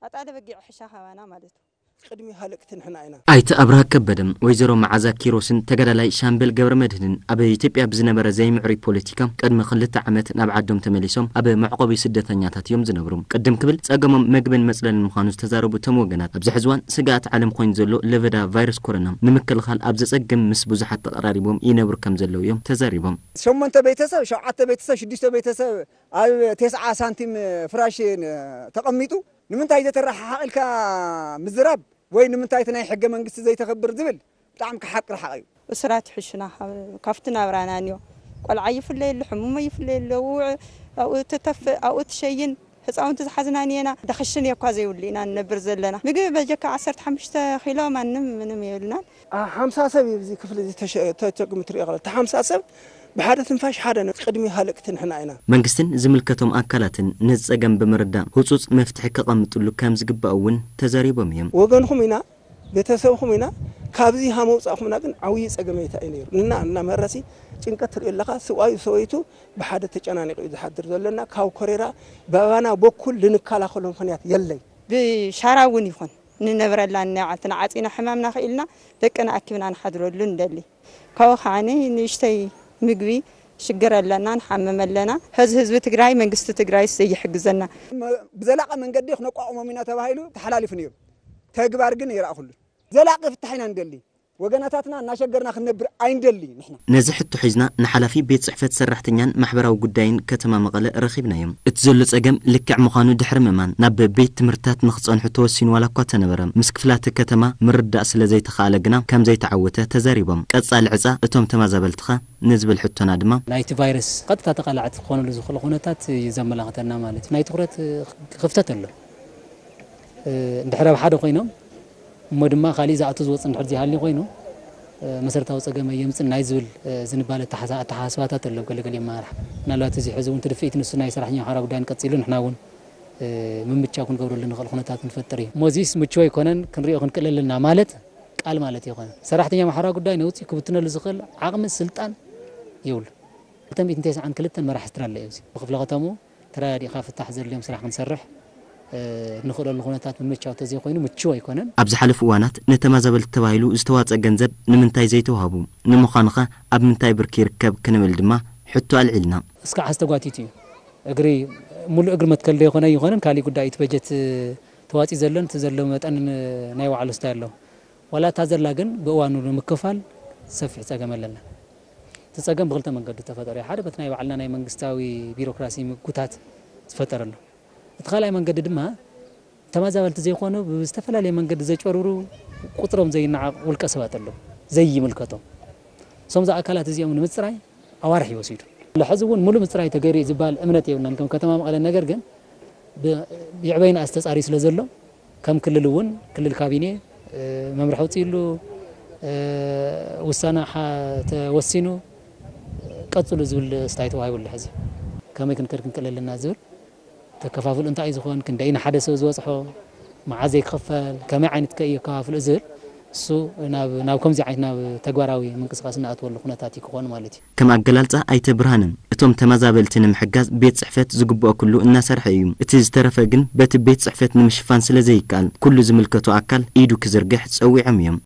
ኣጣለ በጊዕ ሕሻ ካባና ማለት እዩ። ቅድሚ ሃለቅቲ ንሕና ኢና። ኣይተ ኣብርሃ ከበደ፣ ወይዘሮ መዓዛ ኪሮስን ተጋዳላይ ሻምበል ገብረ መድህንን ኣብ ኢትዮጵያ ብዝነበረ ዘይምዕሩይ ፖለቲካ ቅድሚ ክልተ ዓመት ናብ ዓዶም ተመሊሶም ኣብ መዕቆቢ ስደተኛታት እዮም ዝነብሩ። ቅድም ክብል ጸገሞም መግብን መጽለልን ምዃኑ ዝተዛረቡ እቶም ወገናት፣ ኣብዚ ሕዚ እዋን ስግኣት ዓለም ኮይኑ ዘሎ ለበዳ ቫይረስ ኮሮና ንምክልኻል ኣብ ዘጸግም ምስ ብዙሓት ተቐራሪቦም ይነብሩ ከም ዘለዉ እዮም ተዛሪቦም። ሸሞንተ ቤተሰብ፣ ሸውዓተ ቤተሰብ፣ ሽዱሽተ ቤተሰብ ኣብ ተስዓ ሳንቲም ፍራሽ ተቐሚጡ ንምንታይ ዘተረሓሓቕ ኢልካ ምዝራብ ወይ ንምንታይ እቲ ናይ ሕገ መንግስቲ ዘይተኸብር ዝብል ብጣዕሚ ክሓቅ ርሓቕ እዩ። እሱራት ይሕሹና ካብቲ ናብራና ንዮ ቆልዓ ይፍለየሉ ሕሙሞ ይፍለየሉ ውዕ ኣብኡ ትተፍእ ኣብኡ ትሸይን ህፃውንቲ ዝሓዝና ንየና ደኽሽን እየ እኳ ዘይብሉ ኢና ንነብር ዘለና ምግቢ በጀካ ዓሰርተ ሓሙሽተ ኪሎ ማንም ምንም የብልናን። ሓምሳ ሰብ እዩ እዚ ክፍሊ እዚ ተሸ- ተቸግሙ ትሪኦ ከለካ። እቲ ሓምሳ ሰብ ብሓደ ትንፋሽ ሓደ ነው። ቅድሚ ሃለቅቲ ንሕና ኢና። መንግስትን ዝምልከቶም ኣካላትን ነዚ ጸገም ብምርዳእ ህጹጽ መፍትሒ ከቐምጥሉ ከም ዝግባእ እውን ተዛሪቦም እዮም። ወገንኹም ኢና፣ ቤተሰብኹም ኢና፣ ካብዚ ሃመውፃእኹምና ግን ዓብዪ ጸገመይታ እዩ ነይሩ። ንና እና መረሲ ጭንቀት ትሪኦ ኣለኻ። ስብኣዩ ሰበይቱ ብሓደ ተጨናኒቑ እዩ ዝሓድር ዘለና። ካብ ኮሬራ ብኣባና በኩል ልንከላኸሎ ምኽንያት የለይ። ብሻራ እውን ይኹን ንነብረላን ናይ ባዕልትና ዓፂና ሕማምና ክኢልና ደቅና ኣኪብና ንሓድረሉ ንደሊ። ካብኡ ከዓ ንእሽተይ ምግቢ ሽግር ኣለና ንሓምም ኣለና። ሕዚ ህዝቢ ትግራይ መንግስቲ ትግራይስ ዘይሕግዘና። ብዘላቂ መንገዲ ክነቋቑሞም ኢና ተባሂሉ ተሓላሊፉ ነይሩ። ተግባር ግን ኣይረኣኹሉን። ዘላቂ ፍታሕ ኢና ንደሊ። ወገናታትና እናሸገርና ክንነብር ኣይንደሊ ንሕና። ነዚ ሕቶ ሒዝና ንሓላፊ ቤት ጽሕፈት ሰራሕተኛን ማሕበራዊ ጉዳይን ከተማ መቐለ ረኺብናዮም። እቲ ዘሎ ጸገም ልክዕ ምዃኑ ድሕሪ ምእማን ናብ ቤት ትምህርትታት ንኽጸንሑ ተወሲኑ ዋላ እኳ ተነበረ፣ ምስ ክፍላተ ከተማ ምርዳእ ስለ ዘይተኻእለ ግና ከም ዘይተዓወተ ተዛሪቦም። ቀጻሊ ዕጻ እቶም ተመዛበልትኸ ንዝብል ሕቶና ድማ። ናይቲ ቫይረስ ቀጥታ ተቓላዕቲ ክኾነሉ ዝኽእሉ ኩነታት እዩ ዘመላኽተና ማለት እዩ። ናይ ትኹረት ክፍተት ኣሎ። እንድሕር ኣብ ሓደ ኮይኖም እሞ ድማ ካሊእ ዝኣቱ ዝወፅ እንድሕር ዘይሃልዩ ኮይኑ መሰረታዊ ፀገም ኣየምፅን ናይ ዝብል ዝንባለ ኣተሓሳስባታት ኣሎ ገለገለ ኣመራርሓ። ምናልባት እዚ ሕዚ እውን ትድፍኢት ንሱ ናይ ሰራሕተኛ ሓራ ጉዳይን ቀፂሉ ንሕና እውን ምምቻው ክንገብረሉ ንኽእል ኩነታት ንፈጥር እዩ። እሞ እዚስ ምችው ኣይኮነን ክንሪኦ ክንክእል ኣለና ማለት ቃል ማለት ኣይኮነን። ሰራሕተኛ ማሕራ ጉዳይ ነውፂ ክብትነሉ ዝኽእል ዓቕሚ ስልጣን የብሉ። ክልተ ሚእትን ተስዓን ክልተን መራሒ ስድራ ኣሎ እዩ። ብክፍለ ከተምኡ ተረዳዲእካ ፍታሕ ዘድልዮም ስራሕ ክንሰርሕ ንኽእለሉ ኩነታት ምምቻው ተዘይኮይኑ ምችው ኣይኮነን። ኣብ ዝሓለፉ እዋናት ንተመዛበልቲ ተባሂሉ ዝተዋፀ ገንዘብ ንምንታይ ዘይተዋህቡ? ንምዃኑኸ ኣብ ምንታይ ብርኪ ይርከብ ክንብል ድማ ሕቶ ኣልዒልና። እስካዕ ሕዚ ተጓቲቱ እዩ። እግሪ ሙሉእ እግሪ መትከል ዶ ይኾነ ኣይኾነን ካሊእ ጉዳይ እዩ። እቲ በጀት ተዋፂኡ ዘሎን እቲ ዘሎ መጠን ናይ ባዕሉ ስታይ ኣሎ። ዋላ እታ ዘላ ግን ብእዋኑ ንምክፋል ሰፊሕ ጸገም ኣለና። እቲ ጸገም ብኽልተ መንገዲ ተፈጠሩ እዩ። ሓደ በቲ ናይ ባዕልና ናይ መንግስታዊ ቢሮክራሲ ምጉታት ዝፈጠረሉ። እቲ ካልኣይ መንገዲ ድማ ተመዛበልቲ ዘይኮኑ ብዝተፈላለየ መንገዲ ዘጭበርብሩ ቁጽሮም ዘይነዓቕ ውልቀ ሰባት ኣለዉ ዘይምልከቶም። እሶም ኣካላት እዚኦም ንምጽራይ ኣዋርሕ እዩ ወሲዱ። ሕዚ እውን ሙሉእ ምፅራይ ተገይሩ እዩ ዝበሃል እምነት የብልናን ከም ከተማ መቐለ። ነገር ግን ብ- ብዕበይና ዝተፃርዩ ስለ ዘሎ ከም ክልል እውን ክልል ካቢኔ መምርሒ ኣውፂእሉ ውሳነ ሓ- ተወሲኑ ቀፅሉ ዝብል ስታይ ተዋሂቡሉ። ሕዚ ከመይ ክንከድ ክንክእል ኣለና ዝብል ተከፋፍል እንታይ እዩ ዝኾን ክንደይ ንሓደ ሰብ ዝበፅሖ መዓዘይ ክኽፈል ከመይ ዓይነት ከ እዩ ኣከፋፍልኡ ዝብል እሱ ናብ ናብ ከምዚ ዓይነት ናብ ተግባራዊ ምንቅስቃስ እናኣትወሉ ኩነታት እዩ ክኾን ማለት እዩ። ከም ኣገላልጻ ኣይተ ብርሃነ፣ እቶም ተመዛበልቲ ንምሕጋዝ ቤት ጽሕፈት ዝግብኦ ኩሉ እናሰርሐ እዩ። እቲ ዝተረፈ ግን በቲ ቤት ጽሕፈት ንምሽፋን ስለ ዘይከኣል ኩሉ ዝምልከቶ ኣካል ኢዱ ክዝርግሕ ጸዊዖም እዮም።